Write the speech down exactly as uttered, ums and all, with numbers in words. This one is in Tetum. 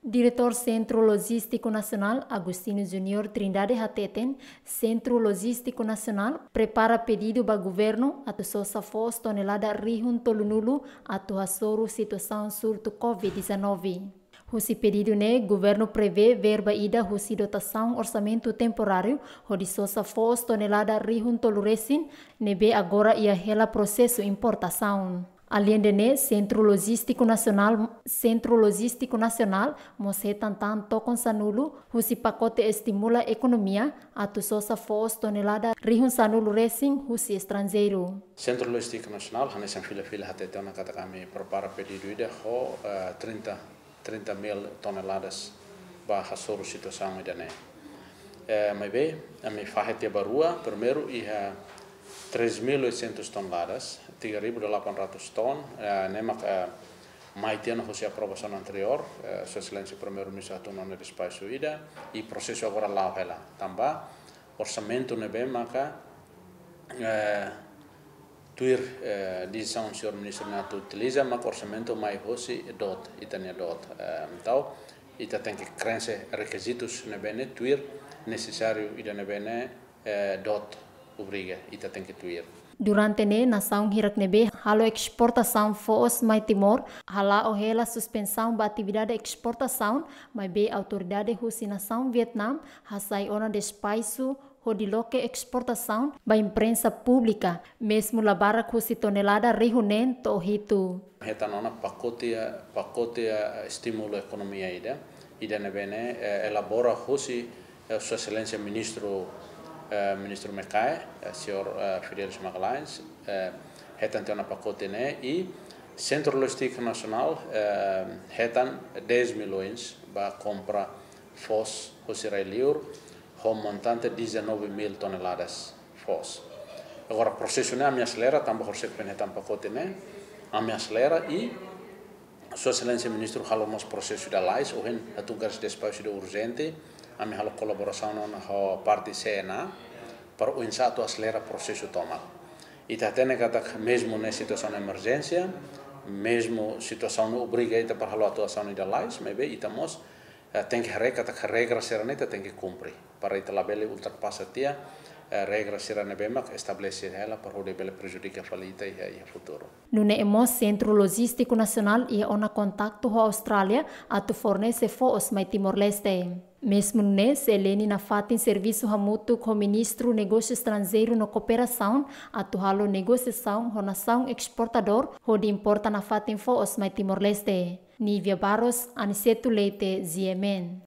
Diretór Sentru Lojístiku Nasionál, Agostinho Junior Trindade hateten, Sentru Lojístiku Nasionál prepara pedidu ba governu atu sosa foos tonelada rihun tolunulu atu hasoru situasaun surtu covid dezanove. Husi pedidu ne'e, governu prevee verba ida husi dotasaun orsamentu temporáriu hodi sosa foos tonelada rihun tolu resin, ne'ebé agora iha hela prosesu importasaun. Aleinde ne'e, Sentru Lojístiku Nasionál, Sentru Lojístiku Nasionál mós hetan tan tokon sanulu husi pakote estimula ekonomia atu sosa foos tonelada rihun sanulu resin husi estranjeiru. Sentru Lojístiku Nasionál hanesan fila-fila hateten ona katak ami prepara pedidu ida ho, eh, trinta, trinta mil toneladas ba hasoru situasaun ida-ne'e. Eh, maibé, ami fahe tiha ba rua, primeiru iha três mil e oitocentos toneladas, tiga ribu delapan ratus ton, eh, ne'e mak, eh, mai tiha ona husi aprovasaun anteriór, eh, Sua Exelénsia Primeiru-Ministru hatún ona despaxu ida, i prosesu agora la'o hela. Tanba orsamentu ne'ebé maka, eh, tuir, eh, desizaun señór ministru ne'e atu utiliza, maka orsamentu mai hosi DOT, ita-nia DOT. Eh, entaun, ita tenke krense rekizitus ne'ebé ne'e tuir nesesáriu ida ne'ebé ne'e, eh, DOT obriga, ita tenke tuir. Durante ne'e, nasaun hirak ne'ebé halo esportasaun foos mai Timor hala'o hela suspensaun ba atividade esportasaun, maibé autoridade husi nasaun Vietname hasai ona despaxu hodi loke esportasaun ba imprensa públika, mezmu la barak husi tonelada rihun neen to'o hitu. Hetan ona pakote, pakote estimulu ekonomia ida, ida ne'ebé ne'e, eh, elabora husi, eh, Sua Exelénsia Ministru, eh, Ministru Mecae, eh, señór, eh, Fidelis Magalhães, eh, hetan tiha ona pakote ne'e, i Sentru Lojístiku Nasionál, eh, hetan dez milhões ba kompra foos husi rai-liur, ho montante dezanove mil toneladas foos. Agora, prosesu ne'e ami aselera, tanba horisehik foin hetan pakote ne'e, ami aselera i Sua Exelénsia Ministru halo mós prosesu ida lalais, ohin hatún kedas despaxu ida urjente, ami halo kolaborasaun ona ho parte C N A, para oinsá atu aselera prosesu tomak. Ita hatene katak mezmu ne'e situasaun emerjénsia, mezmu situasaun ne'e obriga ita para halo atuasaun ida lalais, maibé ita mós, eh, tenke haree katak regra sira-ne'e ita tenke kumpre. Para ita labele ultrapasa tiha, eh, regra sira ne'ebé mak estabelese hela para hodi bele prejudika fali ita iha, iha futuru. Nune'e mós Sentru Lojístiku Nasionál iha ona kontaktu ho Austrália atu fornese foos mai Timor-Leste. Mezmu nune'e, C L N nafatin servisu hamutuk ho Ministru Negósiu Estranjeiru no Kooperasaun atu halo negosiasaun ho nasaun esportadór hodi importa nafatin foos mai Timor-Leste. Nívia Barros, Aniceto Leite, G M N.